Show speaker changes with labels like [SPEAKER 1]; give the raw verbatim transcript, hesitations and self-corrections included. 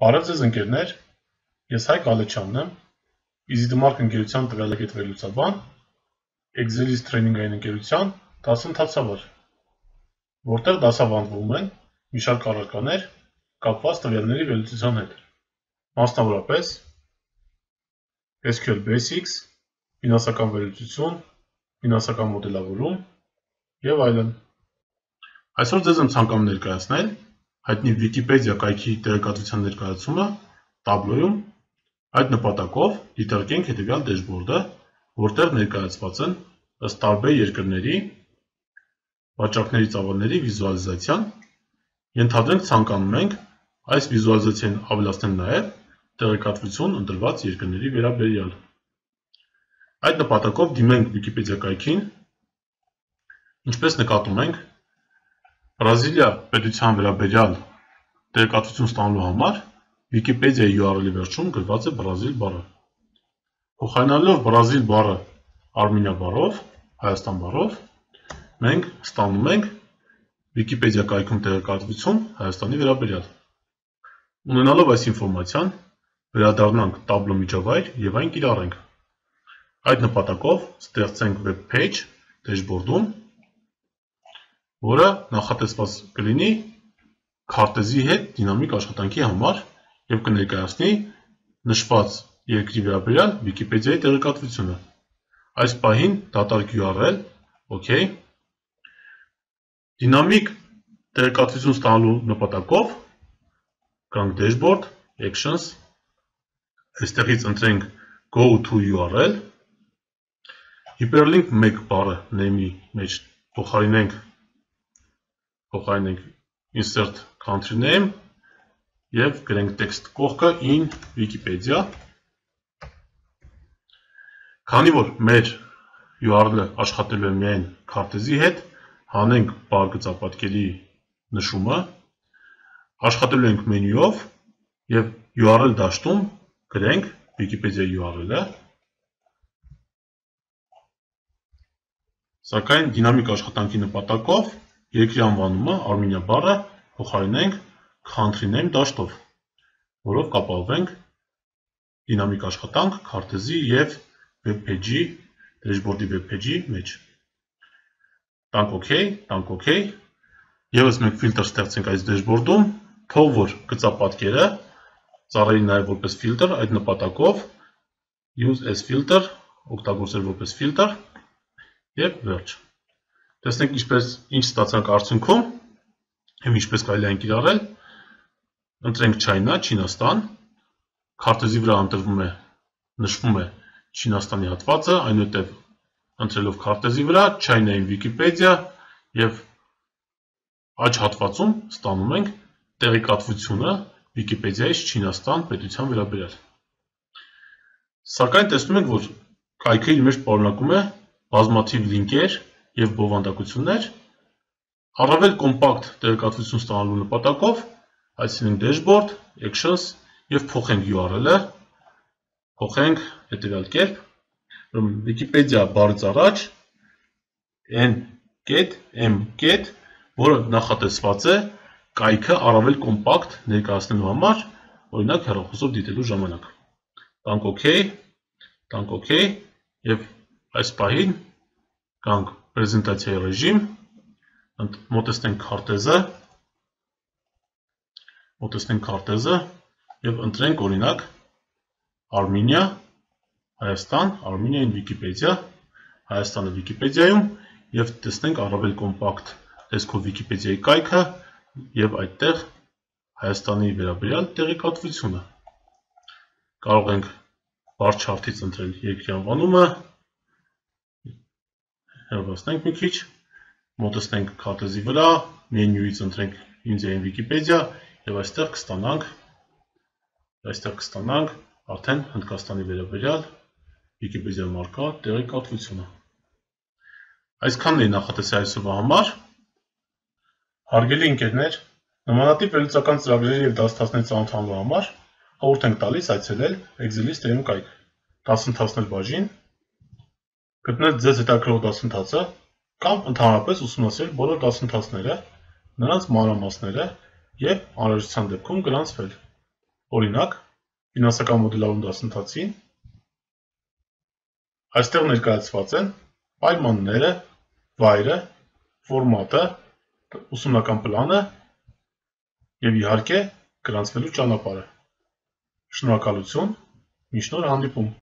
[SPEAKER 1] Բարև ձեզ ընկերներ, ես Հայկ Ալեչյանն եմ, EasyTheMark ընկերության տվյալակետ վերլուծաբան, Excel-ից տրեյնինգային ընկերության դասընթացավար, որտեղ դասավանդվում են մի շարք առարկաներ կապված տվյալների վերլուծության հետ, մասնավորապես S Q L Basics, ֆինանսական վերլուծություն, ֆինանսական մոդելավորում և այլն։ Այսօր ձեզ եմ ցանկանում ներկայացնել հայտնի Wikipedia կայքի տեղեկատվության ներկայացումը տաբլոյում, այդ նպատակով դիտարկենք հետևյալ դեշբորդը, որտեղ ներկայացված են ըստ տարբեր երկրների վաճառքների ծավալների վիզուալիզացիան, ենթադրենք ցանկանում ենք այս վիզուալիզացիան ավելացնել նաև տեղեկատվություն ընտրված երկրների վերաբերյալ։ Այդ նպատակով դիմենք Wikipedia կայքին, ինչպես նկատում ենք, Բրազիլիա պետության վերաբերյալ տեղեկատվություն ստանալու համար Wikipedia-ի յու ար էլ-ի վերջում գրված է Բրազիլ բառը։ Փոխարինելով Բրազիլ բառը Արմենիա բառով, Հայաստան բառով, մենք ստանում ենք Wikipedia կայքում տեղեկատվություն Հայաստանի վերաբերյալ։ Ունենալով այս ինֆորմացիան, վերադառնանք տաբլո միջավայր և այն կիրառենք։ Այդ նպատակով ստեղծենք web page դեշբորդում, որը նախատեսված կլինի քարտեզի հետ դինամիկ աշխատանքի համար և կներկայացնի նշված երկրի վերաբերյալ Wikipedia-ի տեղեկատվությունը։ Այս պահին դատարկ յու ար էլ, OK։ Դինամիկ տեղեկատվություն ստանալու նպատակով գանք Dashboard, Actions, այստեղից ընտրենք Go to յու ար էլ, Hyperlink մեկ բառը name-ի մեջ փոխարինենք փոխարինենք Insert Country Name և գրենք text կողքը in Wikipedia։ Քանի որ մեր յու ար էլ-ը աշխատելու է միայն քարտեզի հետ, հանենք բար գծապատկերի նշումը, աշխատելու ենք մենյուով և յու ար էլ դաշտում գրենք Wikipedia յու ար էլ-ը, սակայն դինամիկ աշխատանքի նպատակով երկրի անվանումը Արմենիա բառը փոխարինենք Country Name դաշտով, որով կապահովենք դինամիկ աշխատանք քարտեզի և web page-ի, դեշբորդի web page-ի մեջ։ Տանք OK, տանք OK, ևս մեկ ֆիլտր ստեղծենք այս դեշբորդում, թող որ գծապատկերը ծառայի նաև որպես ֆիլտր, այդ նպատակով Use as filter, օգտագործել որպես ֆիլտր և վերջ։ Տեսնենք ինչպես ինչ ստացանք արդյունքում և ինչպես կարելի է այն կիրառել։ Ընտրենք China, Չինաստան, քարտեզի վրա ընտրվում է, նշվում է Չինաստանի հատվածը, այնուհետև ընտրելով քարտեզի վրա China-ի Wikipedia և աջ հատվածում ստանում ենք տեղեկատվությունը Wikipedia-ից Չինաստան պետության վերաբերյալ։ Սակայն տեսնում ենք, որ կայքը իր մեջ պարունակում է բազմաթիվ լինկեր և բովանդակություններ, առավել կոմպակտ տեղեկատվություն ստանալու նպատակով այցելենք Dashboard, Actions և փոխենք յու ար էլ-ը, փոխենք հետևյալ կերպ, Wikipedia բառից առաջ N կետ M կետ, որը նախատեսված է կայքը առավել կոմպակտ ներկայացնելու համար, օրինակ հեռախոսով դիտելու ժամանակ։ Տանք OK, տանք OK և այս պահին գանք պրեզենտացիայի ռեժիմ, մոտեցնենք քարտեզը, մոտեցնենք քարտեզը և ընտրենք օրինակ Արմենիա, Հայաստան, Արմենիային Wikipedia, Հայաստանը Wikipedia-ում և տեսնենք առավել կոմպակտ տեսքով Wikipedia-ի կայքը և այդտեղ Հայաստանի վերաբերյալ տեղեկատվությունը։ Կարող ենք բար չարթից ընտրել երկրի անվանումը, հեռացնենք մի քիչ, մոտեցնենք քարտեզի վրա, մենյուից ընտրենք Ինդիայի Wikipedia և այստեղ կստանանք, այստեղ կստանանք արդեն Հնդկաստանի վերաբերյալ Wikipedia-ում առկա տեղեկատվությունը։ Այսքանն էի նախատեսել այսօրվա համար։ Հարգելի ընկերներ, նմանատիպ վերլուծական ծրագրերի և դասընթացների ծանոթանալու համար խորհուրդ ենք տալիս այցելել Excel-ից տրեյնինգ կայք, դասընթացներ բաժին, գտնել ձեզ հետաքրքրող դասընթացը կամ ընդհանրապես ուսումնասիրել բոլոր դասընթացները, նրանց մանրամասները և անհրաժեշտության դեպքում գրանցվել։ Օրինակ, ֆինանսական մոդելավորում դասընթացին այստեղ ներկայացված են պայմանները, վայրը, ֆորմատը, ուսումնական պլանը և իհարկե գրանցվելու ճանապարհը։ Շնորհակալություն, մինչ նոր հանդիպում։